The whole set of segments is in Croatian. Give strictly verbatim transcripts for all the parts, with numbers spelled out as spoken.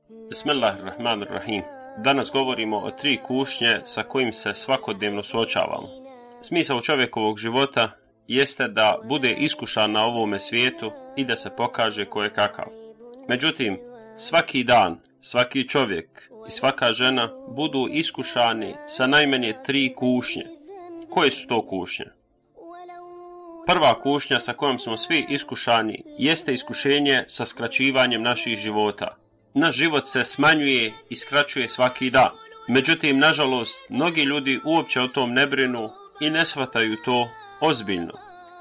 Bismillahirrahmanirrahim. Danas govorimo o tri kušnje sa kojim se svakodnevno suočavamo. Smisao čovjekovog života jeste da bude iskušan na ovome svijetu i da se pokaže ko je kakav. Međutim, svaki dan, svaki čovjek i svaka žena budu iskušani sa najmanje tri kušnje. Koje su to kušnje? Prva kušnja sa kojom smo svi iskušani jeste iskušenje sa skraćivanjem naših života. Naš život se smanjuje i skraćuje svaki dan. Međutim, nažalost, mnogi ljudi uopće o tom ne brinu i ne shvataju to ozbiljno.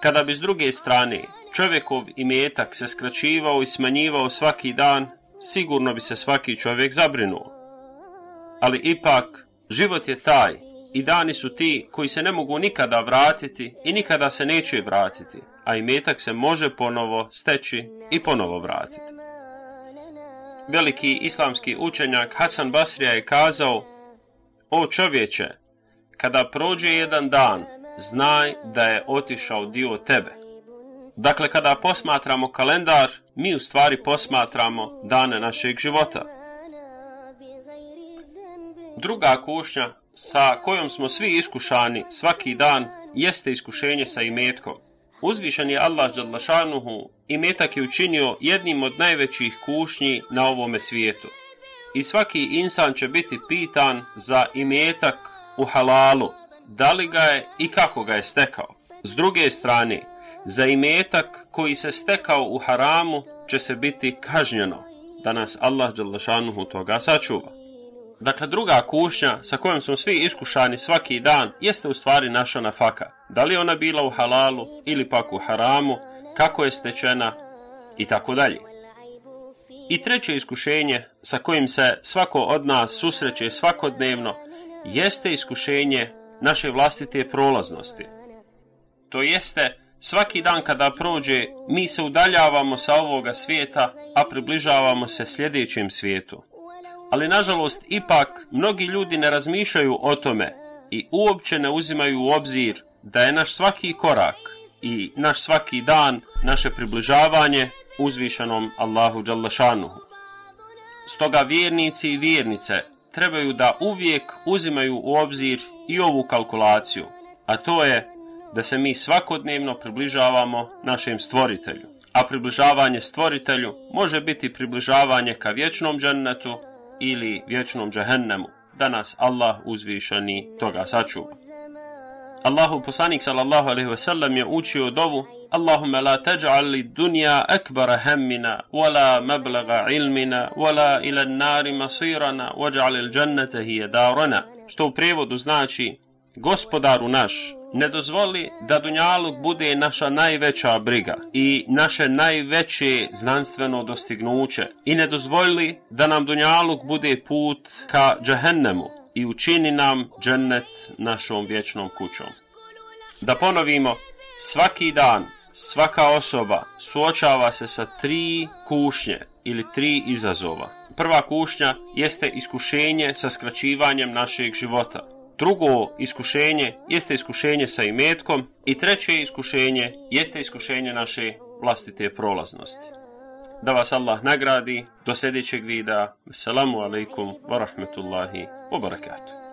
Kada bi s druge strane čovjekov imetak se skraćivao i smanjivao svaki dan, sigurno bi se svaki čovjek zabrinuo. Ali ipak, život je taj i dani su ti koji se ne mogu nikada vratiti i nikada se neće vratiti, a imetak se može ponovo steći i ponovo vratiti. Veliki islamski učenjak Hasan Basrija je kazao: o čovječe, kada prođe jedan dan, znaj da je otišao dio tebe. Dakle, kada posmatramo kalendar, mi u stvari posmatramo dane našeg života. Druga kušnja sa kojom smo svi iskušani svaki dan jeste iskušenje sa imetkom. Uzvišen je Allah dželle šanuhu imetak je učinio jednim od najvećih kušnji na ovome svijetu. I svaki insan će biti pitan za imetak u halalu, da li ga je i kako ga je stekao. S druge strane, za imetak koji se stekao u haramu će se biti kažnjeno, da nas Allah dželle šanuhu toga sačuva. Dakle, druga kušnja sa kojom smo svi iskušani svaki dan jeste u stvari naša nafaka. Da li ona bila u halalu ili pak u haramu, kako je stečena i tako dalje. I treće iskušenje sa kojim se svako od nas susreće svakodnevno jeste iskušenje naše vlastite prolaznosti. To jeste, svaki dan kada prođe, mi se udaljavamo sa ovoga svijeta, a približavamo se sljedećem svijetu. Ali nažalost, ipak, mnogi ljudi ne razmišljaju o tome i uopće ne uzimaju u obzir da je naš svaki korak i naš svaki dan naše približavanje uzvišenom Allahu dželle šanuhu. Stoga vjernici i vjernice trebaju da uvijek uzimaju u obzir i ovu kalkulaciju, a to je da se mi svakodnevno približavamo našem stvoritelju. A približavanje stvoritelju može biti približavanje ka vječnom džennetu ili vječnom džehennemu, da nas Allah uzvišeni toga sačuva. Allahu poslanik sallallahu alejhi ve sellem je učio dovu: Allahumma la taj'al lid dunya akbara hammina wala mablagha ilmina wala ila an-nari masirana waj'al al-jannata hiya darana, što u prijevodu znači: Gospodaru naš, ne dozvoli da dunjaluk bude naša najveća briga i naše najveće znanstveno dostignuće i ne dozvoli da nam dunjaluk bude put ka džehennemu i učini nam džennet našom vječnom kućom. Da ponovimo, svaki dan, svaka osoba suočava se sa tri kušnje ili tri izazova. Prva kušnja jeste iskušenje sa skraćivanjem našeg života. Drugo iskušenje jeste iskušenje sa imetkom i treće iskušenje jeste iskušenje naše vlastite prolaznosti. Da vas Allah nagradi. Do sljedećeg videa. Assalamu alaikum wa rahmetullahi wa barakatuh.